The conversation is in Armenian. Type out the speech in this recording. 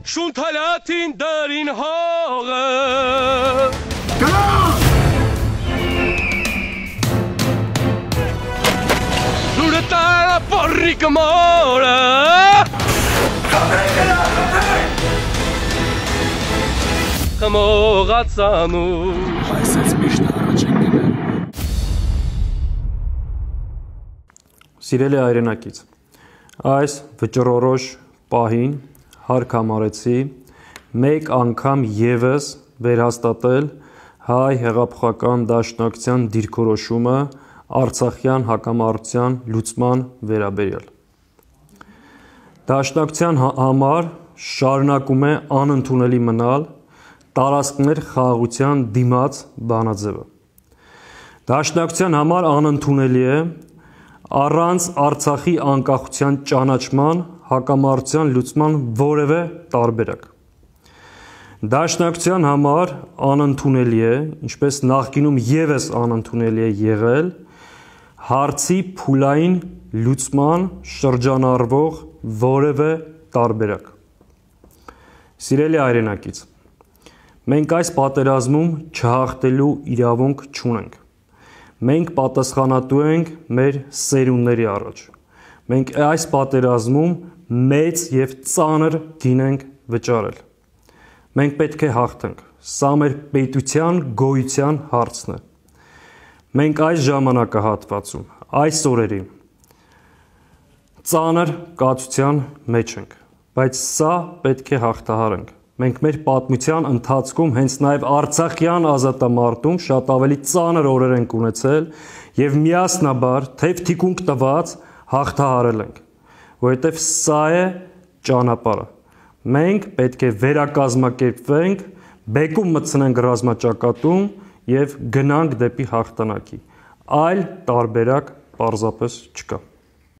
Շունթալատին դարին հողը Լուրը տարա պորրիկը մորը Խմողացանու Այս ես միշտ առաջ ենք գնել Սիրելի հայրենակից, այս վճռորոշ պահին հարկ համարեցի մեկ անգամ ևս վերհաստատել հայ հեղափոխական դաշնակցության դիրքորոշումը Արցախյան հակամարտության լուծման վերաբերյալ։ Դաշնակցության համար շարունակում է անընդունելի մնալ տարածքներ խաղաղության դիմաց բանաձևը։ Դաշնակցության համար անընդունելի է առանց Արցախի անկախության ճանաչման հակամարտության լուծման որևէ տարբերակ։ Դաշնակցության համար անընդունելի է, ինչպես նախկինում ևս անընդունելի է եղել, հարցի փուլային լուծման շրջանառվող որևէ տարբերակ։ Սիրելի հայրենակից, մենք այս պատերազմում չհաղթելու իրավունք չունենք։ Մենք պատասխանատու ենք մեր սերունդների առաջ։ Մենք այս պատերազմում մեծ և ծանր գին ենք վճարել։ Մենք պետք է հաղթենք։ Սա մեր պետության գոյության հարցն է։ Մենք այս ժամանակահատվածում, այս օրերին ծանր կացության մեջ ենք, բայց սա պետք է հաղթահարենք։ Մենք մեր պատմության ընթացքում հենց նաև Արցախյան ազատամարտում շատ ավելի ծանր օրեր ենք ունեցել և միասնաբար թեև թիկունք տված հաղթահարել ենք, որովհետև սա է ճանապարհը։ Մենք պետք է վերակազմակերպվենք, բեկում մտցնենք ռազմաճակատում և գնանք դեպի հաղթանակի։ Այլ տարբերակ պարզապես չկա։